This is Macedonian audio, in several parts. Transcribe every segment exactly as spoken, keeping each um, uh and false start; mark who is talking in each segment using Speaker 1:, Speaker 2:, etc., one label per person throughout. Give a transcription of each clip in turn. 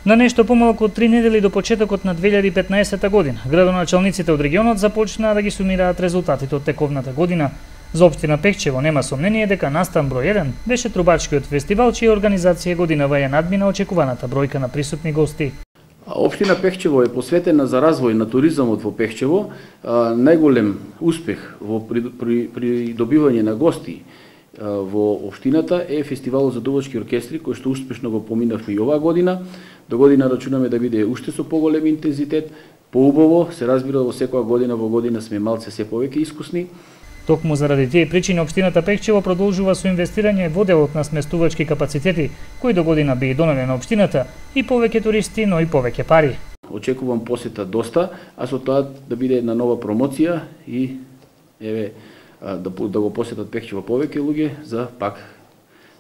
Speaker 1: На нешто помалку од три недели до почетокот на две илјади и петнаесета година, градоначалниците од регионот започнаа да ги сумираат резултатите од тековната година. За општина Пехчево нема сомнение дека настан број еден беше трубачкиот фестивал, чија организација годинава ја надмина очекуваната бројка на присутни гости.
Speaker 2: Општина Пехчево е посветена за развој на туризмот во Пехчево. Најголем успех во придобивање на гости во општината е фестивалот за дувачки оркестри, кој што успешно го поминавме и оваа година. До година рачунаме да биде уште со поголем интензитет, поубаво, се разбира во секоја година во година сме малце се повеќе искусни.
Speaker 1: Токму заради тие причини општината Пехчево продолжува со инвестирање во делот на сместувачки капацитети, кои до година би донеле на општината и повеќе туристи, но и повеќе пари.
Speaker 2: Очекувам посета доста, а со тоа да биде една нова промоција и еве да, да го посетат Пехчево повеќе луѓе за пак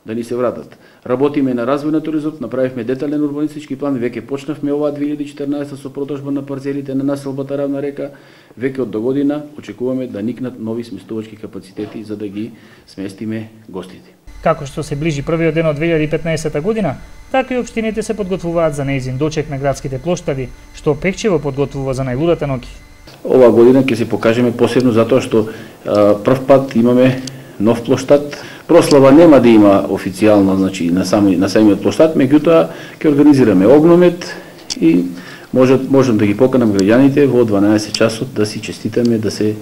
Speaker 2: да ни се вратат. Работиме на развој на туризмот, направивме детален урбанистички план, веќе почнавме оваа две илјади и четрнаесета со продажба на парцелите на населбата Равна река. Веќе од до година очекуваме да никнат нови сместувачки капацитети за да ги сместиме гостите.
Speaker 1: Како што се ближи првиот ден од две илјади и петнаесета година, така и општините се подготвуваат за нејзин дочек на градските плоштади, што Пехчево подготвува за најлудата ноќ.
Speaker 2: Оваа година ќе се покажеме посебно затоа што а, прв пат имаме нов плоштад. Прослава нема да има официјално, значи на сами на самиот плоштад, меѓутоа ќе организираме огномет и може можам да ги поканам граѓаните во дванаесет часот да си честитаме, да се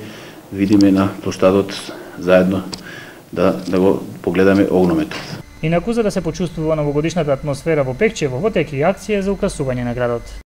Speaker 2: видиме на плоштадот заедно, да да го погледаме огнометот.
Speaker 1: Инаку за да се почувствува новогодишната атмосфера во Пехчево, во теки акција за украсување на градот.